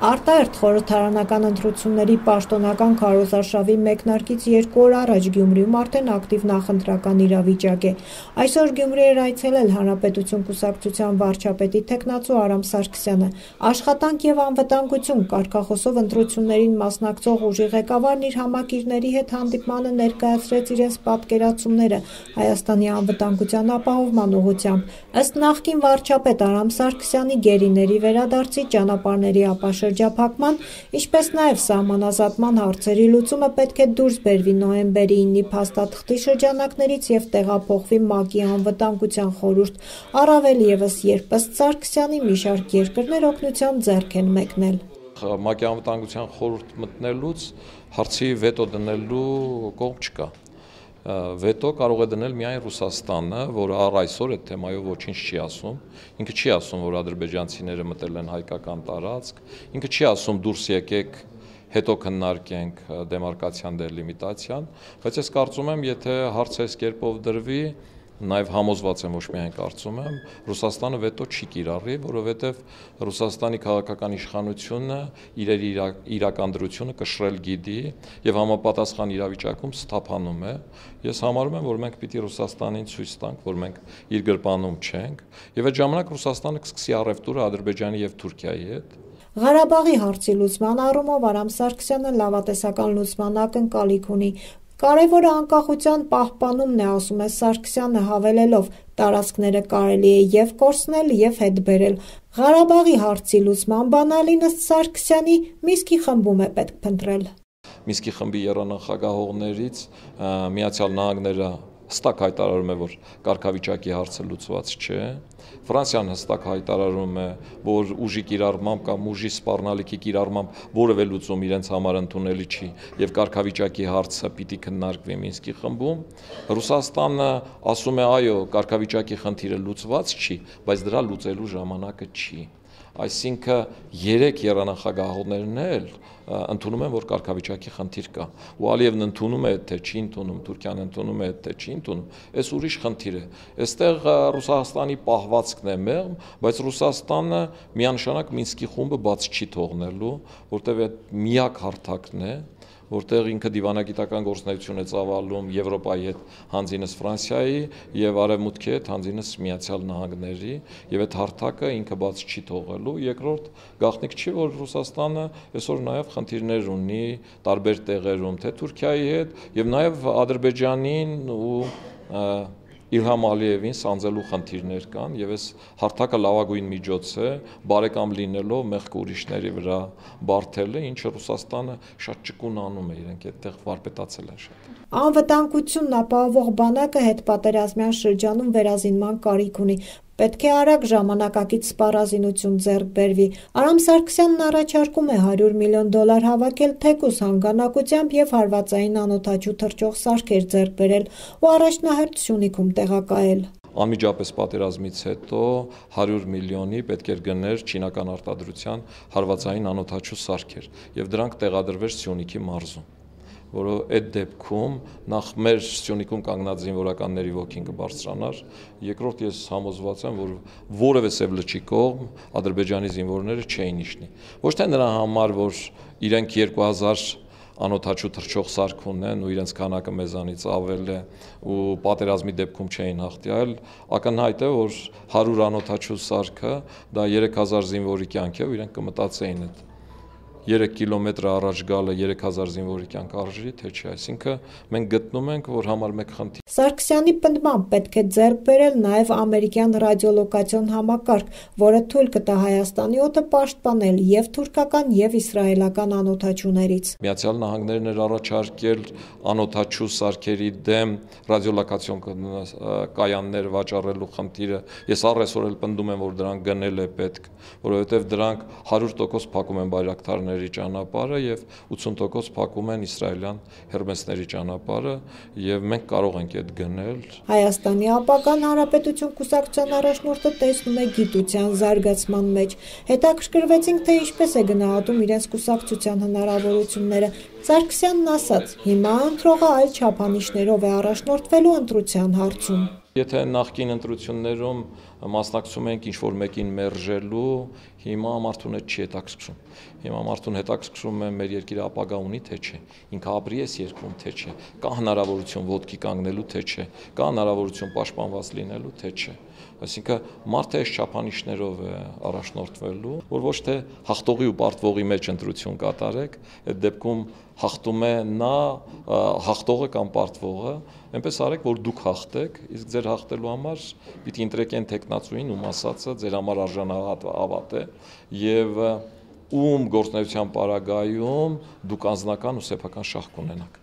Արտահերթ խորհրդարանական ընտրությունների պաշտոնական քարոզարշավի մեկնարկից 2 օր առաջ Գյումրիում արդեն ակտիվ նախընտրական իրավիճակ է։ Այսօր Գյումրի էր այցելել Հանրապետություն կուսակցության վարչապետի թեկնածու Արամ Սարգսյանը։ Աշխատանք և անվտանգություն կարգախոսով ընտրություններին մասնակցող ուժի ղեկավարն իր համակիրների հետ հանդիպմանը ներկայացրեց իրենց պատկերացումները Հայաստանի անվտանգության ապահովման ուղղությամբ։ Ըստ նախկին վարչապետ Արամ Սարգսյանի գերիների վերադարձի ճանապարհների ապաշրջափակման, ինչպես նաև սահմանազատման հարցերի լուծումը պետք է դուրս բերվի նոյեմբերի 9-ի փաստաթղթի շրջանակներից և տեղափոխվի ՄԱԿ-ի անվտանգության խորհուրդ, առավել ևս, երբ ըստ Սարգսյանի մի շարք երկրներ օգնության ձեռք են մեկնել։ ՄԱԿ-ի անվտանգության խորհուրդ մտնելուց հարցի վետո դնելու կողմ չկա։ Վետո կարող է դնել միայն Ռուսաստանը, որը առ այսօր այդ թեմայով ոչինչ չի ասում։ Ինքը չի ասում, որ ադրբեջանցիները մտել են հայկական տարածք, ինքը չի ասում դուրս եկեք, հետո քննարկենք դեմարկացիան, դելիմիտացիան, բայց ես կարծում եմ, եթե հարցը այս կերպով դրվի, նաև համոզված եմ, ոչ միայն կարծում եմ, Ռուսաստանը վետո չի կիրառի, որովհետև Ռուսաստանի քաղաքական իշխանությունը իր իրական դրությունը կշռել գիտի եւ համապատասխան իրավիճակում սթափանում է։ Ես համարում եմ, որ մենք պիտի Ռուսաստանին ցույց տանք, որ մենք իր գրպանում չենք, եւ այդ ժամանակ Ռուսաստանը կսկսի առևտուրը Ադրբեջանի եւ Թուրքիայի հետ։ Ղարաբաղի հարցի լուծման առումով Արամ Սարգսյանը լավատեսական լուծման ակնկալիք ունի։ Կարևորը անկախության պահպանումն է, ասում է Սարգսյանը, հավելելով, տարածքները կարելի է և կորցնել, և հետ բերել։ Ղարաբաղի հարցի լուծման բանալին ըստ Սարգսյանի Միսկի խմբում է պետք փնտրել։ Միսկի խմբի եռանախագահողներից Միացյալ Նահանգները հստակ հայտարարում է, որ կարգավիճակի հարցը լուծված չէ։ Ֆրանսիան հստակ հայտարարում է, որ ուժի կիրառմամբ կամ ուժի սպառնալիքի կիրառմամբ որևէ լուծում իրենց համար ընդունելի չի եւ կարգավիճակի հարցը պիտի քննարկվի Մինսկի խմբում։ Ռուսաստանը ասում է, այո, կարգավիճակի խնդիրը լուծված չի, բայց դրա լուծելու ժամանակը չի։ Այսինքն 3 եռանախագահողներն էլ ընդունում են, որ կարգավիճակի խնդիր կա։ Ու Ալիևն ընդունում է, թե չի ընդունում, Թուրքիան ընդունում է, թե չի ընդունում, այս ուրիշ խնդիր է։ Այստեղ Ռուսաստանի պահվածքն է մեղմ, բայց Ռուսաստանը միանշանակ Մինսկի խումբը բաց չի թողնելու, որտեղ այդ միակ հարթակն է, որտեղ ինքը դիվանագիտական գործունեություն է ծավալում Եվրոպայի հետ հանձինս Ֆրանսիայի եւ Արևմուտքի հետ հանձինս Միացյալ Նահանգների եւ այդ հարթակը ինքը բաց չի թողելու։ Երկրորդ գաղտնիք չի, որ Ռուսաստանը այսօր նաեւ խնդիրներ ունի տարբեր տեղերում, թե Թուրքիայի հետ եւ նաեւ Ադրբեջանին ու Իլհամ Ալիևին սանձելու խնդիրներ կան եւ այս հարթակը լավագույն միջոց է բարեկամ լինելով մեղք ուրիշների վրա բարթելը, ինչը Ռուսաստանը շատ ճկուն անում է, իրենք այդտեղ վարպետացել են շատ։ Անվտանգությունն ապահովող բանակը հետպատերազմյան շրջանում վերազինման կարիք ունի։ Պետք է արագ ժամանակակից սպառազինություն ձեռք բերվի։ Արամ Սարգսյանն առաջարկում է $100 միլիոն հավաքել թեկուզ հանգանակությամբ եւ հարվածային անօդաչու թռչող սարքեր ձեռք բերել ու առաջնահերթ Սյունիքում տեղակայել։ Անմիջապես պատերազմից հետո 100 միլիոնի պետք էր գներ չինական արտադրության հարվածային անօդաչու սարքեր եւ դրանք տեղադրվեր Սյունիքի մարզում, որը այդ դեպքում նախ մեր Սյունիքում կանգնած զինվորականների ոգին կբարձրանար, երկրորդ ես համոզված եմ, որ որևէ սևլջի կողմ Ադրբեջանի զինվորները չէին իջնի։ Ոչ թե նրա համար, որ իրենք 2000 անօդաչու թռչող սարք ունեն ու իրենց քանակը մեզանից ավել է ու պատերազմի դեպքում չէին հաղթի, այլ ակնհայտ է, որ 100 անօդաչու սարքը դա 3000 զինվորի կյանք է ու իրենք կմտածեին այդ 3 կիլոմետր առաջ գալը 3000 զինվորի կյանք արժի, թե չէ, այսինքն մենք գտնում ենք, որ համար մեկ խնդիր։ Սարգսյանի պնդմամբ պետք է ձեռք բերել նաև ամերիկյան ռադիոլոկացիոն համակարգ, որը թույլ կտա Հայաստանի օդը պաշտպանել եւ թուրքական եւ իսրայելական անօդաչուներից։ Միացյալ Նահանգներն էր առաջարկել անօդաչու սարքերի դեմ ռադիոլոկացիոն կայաններ վաճառելու խնդիրը։ Ես առ այսօր էլ պնդում եմ, որ դրանք գնել է պետք, որովհետեւ դրանք 100% փակում են բայրակտարների ճանապարհը եւ 80% փակում են իսրայելյան հերմեսների ճանապարհը եւ մենք կարող ենք այդ գնել։ Հայաստանի ապագան Հանրապետություն կուսակցության առաջնորդը տեսնում է գիտության զարգացման մեջ։ Հետաքրքրվեցինք, թե ինչպես է գնահատում իրենց կուսակցության հնարավորությունները։ Սարգսյանն ասաց. հիմա ընտրողը այլ չափանիշներով է առաջնորդվելու ընտրության հարցում։ Եթե նախկին ընտրություններում մասնակցում ենք ինչ-որ մեկին մերժելու, Հիմա մարդուն հետ չի հետաքրքրում։ Հիմա մարդուն հետաքրքրում է մեր երկիրը ապագա ունի թե չէ, ինքը ապրի է երկրում թե չէ, կա հնարավորություն ոտքի կանգնելու թե չէ, կա հնարավորություն պաշտպանված լինելու թե չէ։ Այսինքն մարդը այս չափանիշներով է առաջնորդվելու, որ ոչ թե հաղթողի ու պարտվողի մեջ ընտրություն կատարեք, այդ դեպքում հաղթում է նա հաղթողը կամ պարտվողը, այնպես արեք, որ դուք հաղթեք, իսկ ձեր հաղթելու համար պիտի ընտրեք այն տեխնացուին, ում ասածը ձեր համար արժանավատ է եւ ում գործնեության պարագայում դուք անձնական ու սեփական շահ կունենաք։